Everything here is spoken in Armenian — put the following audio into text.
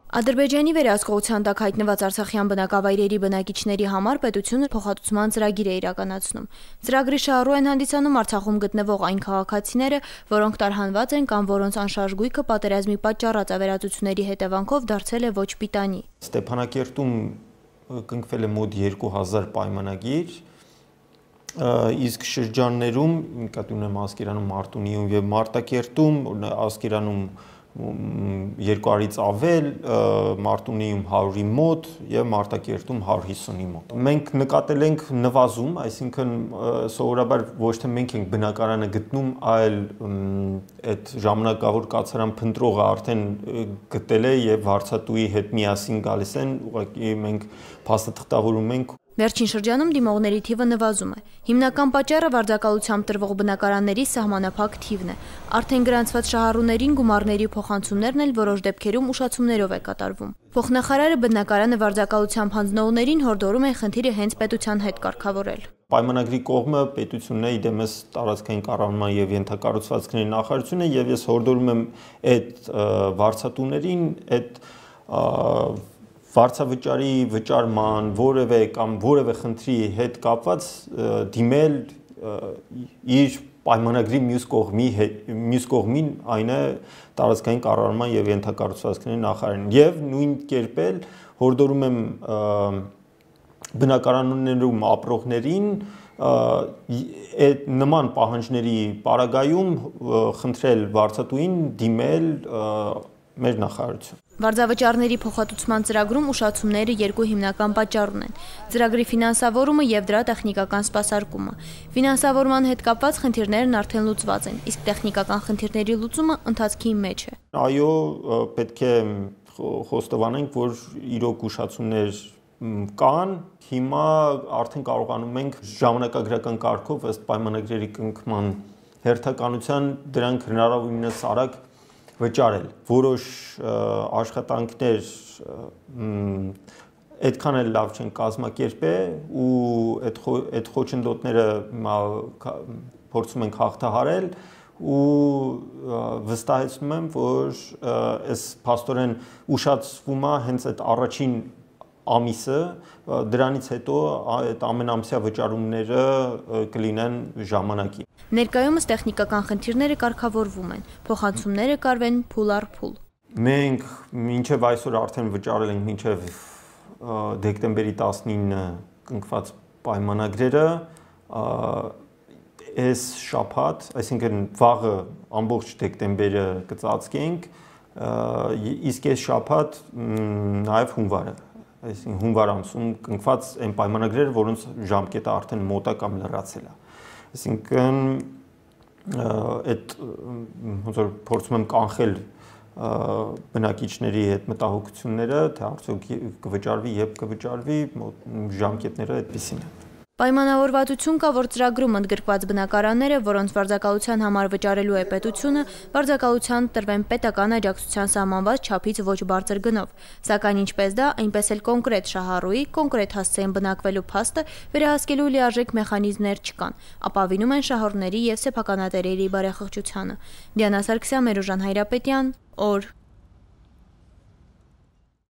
Ադրբեջանի վերահսկողության տակ հայտնված արցախյան բնակավայրերի բնակիչների համար պետությունը փոխհատուցման ծրագիր է իրականացնում։ Ծրագրի շահառու են հանդիսանում Արցախում գտնվող այն քաղաքացիները, որոնք տարհանված են կամ որոնց անշարժ գույքը պատերազմի պատճառած ավերածությունների հետևանքով դարձել է ոչ պիտանի։ Ստեփանակերտում կնքվել է մոտ 2000 պայմանագիր, իսկ շրջաններում, նկատի ունեմ Ասկերանում, Մարտունիում եւ Մարտակերտում, Ասկերանում 200-ից ավել, Մարտունիում 100-ի մոտ եւ Մարտակերտում 150-ի մոտ։ Մենք նկատել ենք նվազում, այսինքն սովորաբար ոչ թե մենք ենք բնակարանը գտնում, այլ այդ ժամանակավոր կացարան փնտրողը արդեն գտել է եւ վարձատուի հետ միասին գալիս են, ուղղակի մենք փաստաթղթավորում ենք։ Վերջին շրջանում դիմողների թիվը նվազում է։ Հիմնական պատճառը վարձակալությամբ տրվող բնակարանների սահմանափակ թիվն է։ Արդեն գրանցված շահառուներին գումարների փոխանցումներն էլ որոշ դեպքերում ուշացումներով է կատարվում։ Փոխնախարարը բնակարանը վարձակալությամբ հանձնողներին հորդորում է խնդիրը հենց պետության հետ կարգավորել։ Պայմանագրի կողմը պետությունն է, իդեմս տարածքային կառավարման եւ ենթակառուցվածքների նախարարությունը, եւ ես հորդորում եմ այդ վարձատուներին այդ վարձավճարի վճարման որևէ խնդրի հետ կապված դիմել իր պայմանագրի մյուս կողմին, այն է տարածքային կառավարման եւ ենթակառուցվածքների նախարարին, եւ նույն կերպ էլ հորդորում եմ բնակարաններում ապրողներին նման պահանջների պարագայում խնդրել վարձատուին դիմել մեր նախարարություն։ Վարձավճարների փոխհատուցման ծրագրում ուշացումները երկու հիմնական պատճառ ունեն՝ ծրագրի ֆինանսավորումը եւ դրա տեխնիկական սպասարկումը։ Ֆինանսավորման հետ կապված խնդիրներն արդեն լուծված են, իսկ տեխնիկական խնդիրների լուծումը ընթացքի մեջ է։ Այո, պետք է խոստովանենք, որ իրոք ուշացումներ կան, հիմա արդեն կարողանում ենք ժամանակագրական կարգով ըստ պայմանագրերի կնքման հերթականության դրանք հնարավորինս արագ վճարել։ Որոշ աշխատանքներ այդքան էլ լավ չեն կազմակերպել ու այդ խոչընդոտները փորձում ենք հաղթահարել ու վստահեցնում եմ, որ այս փաստորեն ուշացվում է հենց այդ առաջին ամիսը, դրանից հետո այդ ամենամսյա վճարումները կլինեն ժամանակի։ Ներկայումս տեխնիկական խնդիրները կարգավորվում են, փոխանցումները կարվեն փուլ առ փուլ։ Մենք մինչև այսօր արդեն վճարել ենք մինչև դեկտեմբերի 19 կնքված պայմանագրերը, այս շաբաթ, այսինքն վաղը ամբողջ դեկտեմբերը կծածկենք, իսկ այս շաբաթ նաև հունվարը, այսինքն հունվար ամսում կնքված այն պայմանագրերը, որոնց ժամկետը արդեն մոտ է կամ լրացել է։ Այսինքն այդ ոնց որ փորձում եմ կանխել բնակիչների հետ մտահոգությունները, թե արդյոք կվճարվի, երբ կվճարվի, ժամկետները այդպեսին են։ Պայմանավորվածություն կա, որ ծրագրում ընդգրկված բնակարանները, որոնց վարձակալության համար վճարելու է պետությունը, վարձակալության տրվեն պետական աջակցության սահմանված չափից ոչ բարձր գնով, սակայն ինչպես դա, այնպես էլ կոնկրետ շահառուի, կոնկրետ հասցեին բնակվելու փաստը վերահսկելու լիարժեք մեխանիզմներ չկան, ապավինում են շահառուների եւ սեփականատերերի բարեխղճությանը։ Դիանա Սարգսյան, Մերուժան Հայրապետյան, օր